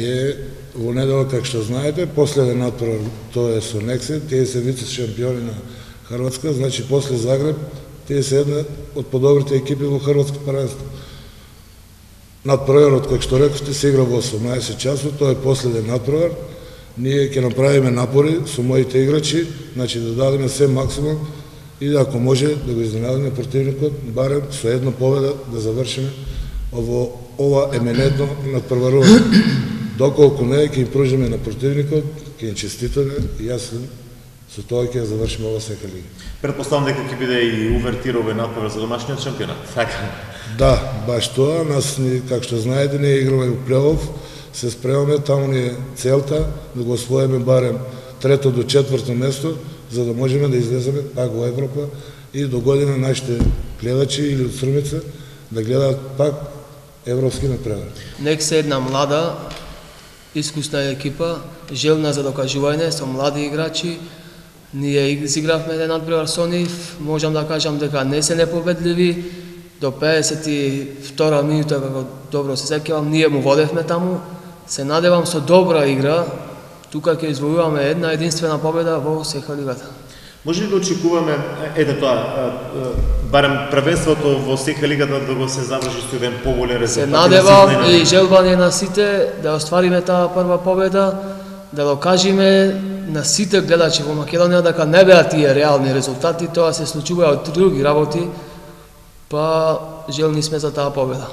ние во недела, како што знаете, последен натпревар, тоа е со Нексе, тие се вице шампиони на Хрватска, значи после Загреб, тие се една од подобрите екипи во Хрватско паренство. Натпреварот, како што рековте, се игра во 18 часот, тоа е последен натпревар. Ние ќе направиме напори со моите играчи, значи да дадеме се максимум и да, ако може, да го изненадиме противникот, барем со една победа да завршиме ова еминентно натпреварување. Доколку не, ќе им пружиме на противникот, ќе им честитаме и јас со тоа ќе завршиме ова СК лига. Предпоставам дека ќе биде и увертира овој натпревар за домашниот шампионат, така? Да, баш тоа. Нас, како што знаете, ние играме во плей-оф, се спремаме, таму ни е целта да го освоиме барем 3-то до 4-то место, за да можеме да излеземе пак во Европа и до година нашите гледачи или од Србица да гледаат пак европски натпревар. Нексе една млада, искусна екипа, желна за докажување, со млади играчи. Ние изигравме еден натпревар со нив, можам да кажам дека не се непобедливи. До 52 минута, како добро се сеќавам, ние му водевме таму. Се надевам со добра игра, тука ќе извојуваме една единствена победа во СК лигата. Може ли да очекуваме, ете тоа, барем првенството во СК лигата да го се заврши со еден поголем резултат? Се надевам и желба ни на сите да оствариме таа прва победа, да докажеме на сите гледачи во Македонија дека не беа тие реални резултати, тоа се случува од други работи, па желни сме за таа победа.